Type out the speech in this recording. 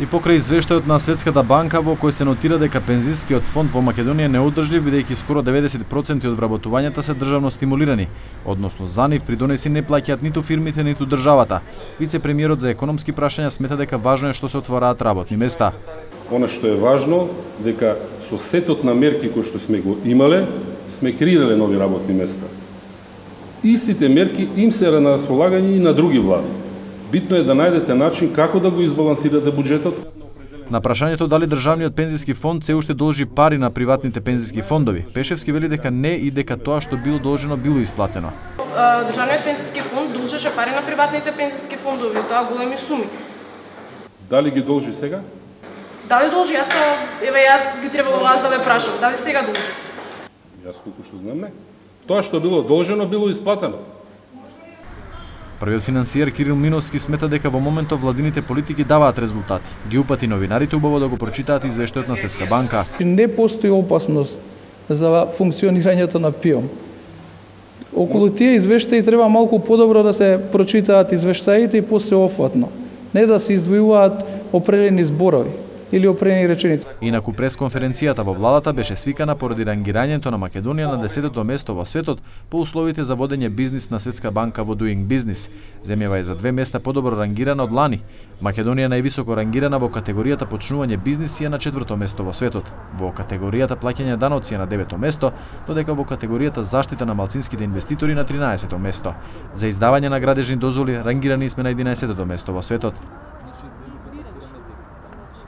И покрај извештајот на Светската банка во кој се нотира дека пензискиот фонд во Македонија не одржлив бидејќи скоро 90% од вработувањата се државно стимулирани, односно за нив придонеси не плаќаат ниту фирмите ниту државата. Вице-премиерот за економски прашања смета дека важно е што се отвораат работни места. Она што е важно дека со сетот на мерки кои што сме го имале, сме креирале нови работни места. Истите мерки им се на располагање и на други влади. Битно е да најдете начин како да го избалансирате буџетот. На прашањето дали државниот пензиски фонд се уште должи пари на приватните пензиски фондови, Пешевски вели дека не и дека тоа што било должено било исплатено. Државниот пензиски фонд должеше пари на приватните пензиски фондови, тоа големи суми. Дали ги должи сега? Дали должи? Јас би требало вас да ве прашам, дали сега должи? Јас колку што знам не. Тоа што било должено било исплатено. Првиот финансиер Кирил Миновски смета дека во моментов владините политики даваат резултати. Ги упати новинарите убаво да го прочитаат извештајот на Светска банка. Не постои опасност за функционирањето на ПИОМ. Околу тие извештаи треба малку подобро да се прочитаат извештаите и посеофатно. Не да се издвојуваат определени зборови или определени реченици. Инаку пресконференцијата во владата беше свикана поради рангирањето на Македонија на 10-то место во светот по условите за водење бизнис на Светска банка во Doing Business. Земјава е за 2 места подобро рангирана од лани. Македонија највисоко рангирана во категоријата почнување бизнис е на 4-то место во светот. Во категоријата плаќање даноци е на 9-то место, додека во категоријата заштита на малцинските инвеститори на 13-то место. За издавање на градежни дозволи рангирани сме на 11-то место во светот.